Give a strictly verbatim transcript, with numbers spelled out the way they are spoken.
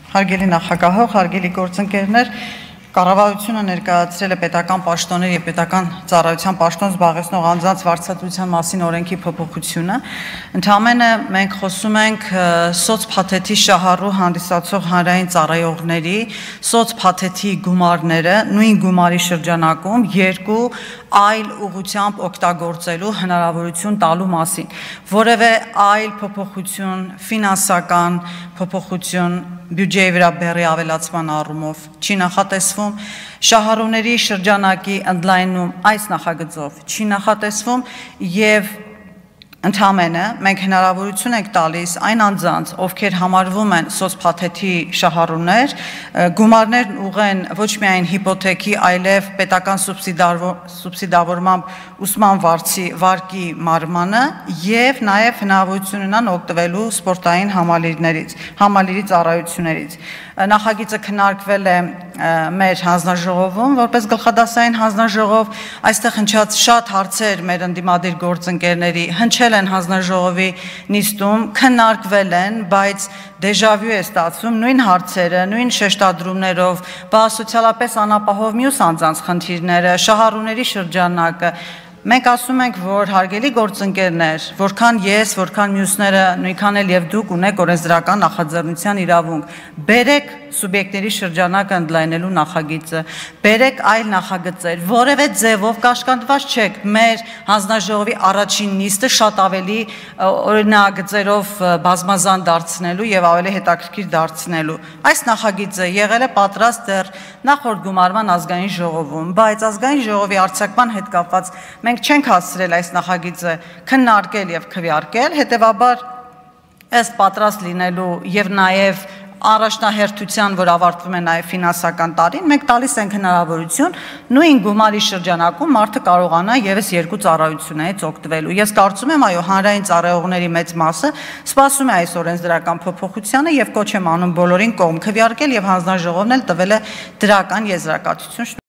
Հարգելի նախագահող, հարգելի գործընկերներ, կառավարությունը ներկայացրել է պետական պաշտոնների և պետական ծառայության պաշտոն զբաղեցնող անձանց վարձատրության մասին օրենքի փոփոխությունը։ Ընդամենը մենք խոսում ենք սոցփաթեթի շահառու հանդիսացող հանրային ծառայողների սոցփաթեթի գումարները նույն գումարի շրջանակում երկու այլ ուղղությամբ օգտագործելու հնարավորություն տալու մասին։ Որևէ այլ փոփոխություն, ֆինանսական փոփոխություն բյուջեի վրա բեռի ավելացման առումով չի նախատեսվում, շահառուների շրջանակի ընդլայնում այս նախագծով չի նախատեսվում և ընդամենը մենք հնարավորություն ենք տալիս այն անձանց, ովքեր համարվում են սոցփաթեթի շահառուներ, գումարներն ուղղեն ոչ միայն հիպոթեքի, այլև պետական սուբսիդավորմամբ ուսման վարկի մարմանը և նաև հնարավորություն ունենան օգտվելու սպորտային համալիրի ծառայություններից։ Նախագիծը քննարկվել է մեր հանձնաժողովում որպես գլխադասային հանձնաժողով, այստեղ հնչած շատ հարցեր մեր ընդդիմադիր գործընկերների հնչել են հանձնաժողովի նիստում, քննարկվել են, բայց դեժավյու է ստացվում նույն հարցերը, նույն շեշտադրումներով, բա սոցիալապես անապահով մյուս անձանց խնդիրները, շահառուների շրջանակը։ Մենք ասում ենք, որ հարգելի գործընկերներ, որքան ես, որքան մյուսները, նույնքան էլ և դուք ունեք օրենսդրական նախաձեռնության իրավունք, բերեք սուբյեկտների շրջանակը ընդլայնելու նախագիծը, բերեք այլ նախագծեր, որևէ ձևով կաշկանդված չեք մեր հանձնաժողովի առաջին նիստը շատ ավելի օրինագծերով բազմազան դարձնելու և ավելի հետաքրքիր դարձնելու։ Այս նախագիծը եղել է պատրաստ դեռ նախորդ գումարման ազգային ժողովում, բայց ազգային ժողովի արձակման հետ կապված մենք չենք հասցրել այս նախագիծը քննարկել և քվեարկել, հետևաբար ըստ պատրաստ լինելու և նաև առաջնահերթության, որ ավարտվում է նաև ֆինանսական տարին, մենք տալիս ենք հնարավորություն նույն գումարի շրջանակում մարդը կարողանա ևս երկու ծառայություններից օգտվելու։ Ես կարծում եմ, այո, հանրային ծառայողների մեծ մասը սպասում է այս օրենսդրական փոփոխությանը և կոչ եմ անում բոլորին կողմ քվեարկել և հանձնաժողովն էլ տվել է դրական եզրակացություն։